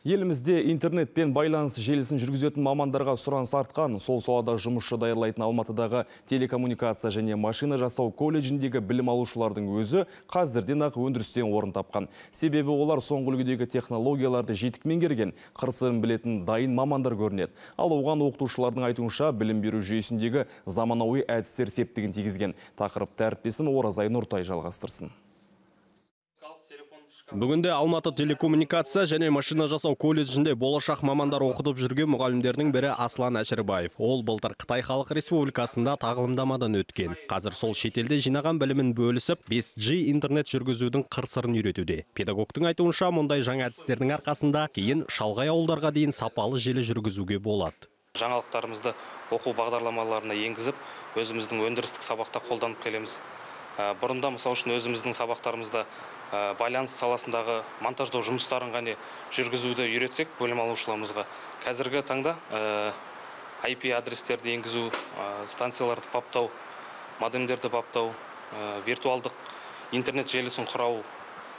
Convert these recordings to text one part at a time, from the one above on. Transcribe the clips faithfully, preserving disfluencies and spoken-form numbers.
Елімізде интернетпен байланыс желісін жүргізетін мамандарға сұраныс артқан. Сол салада жұмысшы даярлайтын Алматыдағы телекоммуникация және машина жасау колледжіндегі білім алушылардың өзі қазірден ақ өндірістен орын тапқан. Себебі олар соңғы үлгідегі технологияларды жетік меңгерген, қыр-сырын білетін дайын мамандар көрінеді. Ал оған оқытушылардың айтуынша білім беру жүйесіндегі заманауи әдістер септігін тигізген. Тақырыпты әріптесім Оразай Нұртай жалғастырсын. Бүгінде Алматы телекоммуникация және машина жасау колледжінде болашақ мамандар оқытып жүрген мұғалімдердің бірі Аслан Әшірбаев. Ол былтыр Қытай Халық Республикасында тағылымдамадан өткен. Қазір сол шетелде жинаған білімін бөлісіп, бес джи интернет жүргізудің қыр-сырын үйретуде. Педагогтың айтуынша, мұндай жаңа әдістердің арқасында кейін шалғай ауылдарға дейін сапалы желі жүргізуге болады. Жаңалықтарымызды оқу бағдарламаларына енгізіп, өзіміздің өндірістік сабақта қолданып келеміз. Бұрында мысал үшін өзіміздің сабақтарымызда байланыс саласындағы монтаждау жұмыстарын ғана жүргізуді үйретсек бөлім алушыларымызға, қазіргі таңда ай пи адрестерді енгізу, станцияларды баптау, модемдерді баптау, виртуалдық интернет желісін құрау,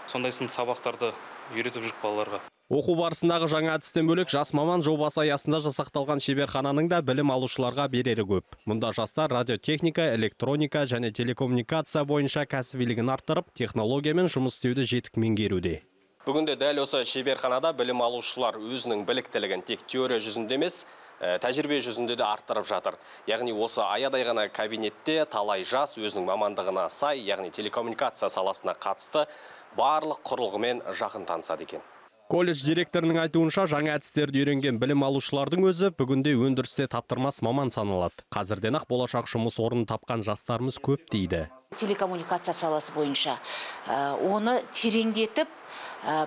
сондай сынды сабақтарды үйретіп жүріп балаларға. Оқу барысындағы жаңа әдістен бөлек жас маман жобасы аясында жасақталған шеберхананың да білім алушыларға берері көп. Мұнда жастар радиотехника, электроника және телекоммуникация бойынша кәсібилігін арттырып, технологиямен жұмыс істеуді жетік меңгеруде. Бүгінде дәл осы шеберханада білім алушылар өзінің біліктілігін тек теория жүзінде емес, тәжірибе жүзінде де арттырып жатыр. Яғни осы аядай ғана кабинетте талай жас өзінің мамандығына сай, яғни телекоммуникация саласына қатысты барлық құрылғымен жақын танысады екен. Колледж директорының айтуынша, жаңа әдістерді үйренген білім алушылардың өзі бүгінде өндірісте таптырмас маман саналады. Қазірден ақ болашақ жұмыс орнын тапқан жастарымыз көп дейді. Телекоммуникация саласы бойынша оны тереңдетіп,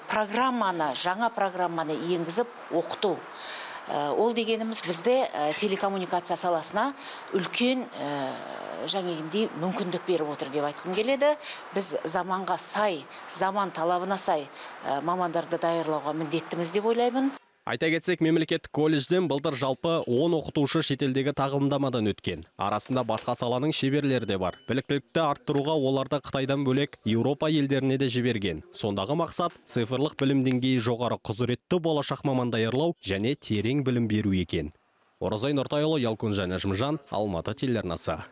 программаны, жаңа программаны енгізіп оқыту. Ол дегеніміз бізде телекоммуникация саласына үлкен жаңегіндей мүмкіндік беріп отыр деп айтқым келеді. Біз заманға сай, заман талабына сай мамандарды даярлауға міндеттіміз деп ойлаймын. Айта кетсек, мемлекеттік колледжден былтыр жалпы он оқытушы шетелдегі тағылымдамадан өткен. Арасында басқа саланың шеберлері де бар. Біліктілікті арттыруға оларды Қытайдан бөлек Еуропа елдеріне де жіберген. Сондағы мақсат цифрлық білім деңгейі жоғары құзыретті болашақ маман даярлау және терең білім беру екен. Оразай Нұртайұлы, Ялкун және Нәжімжан, Алматы телеарнасы.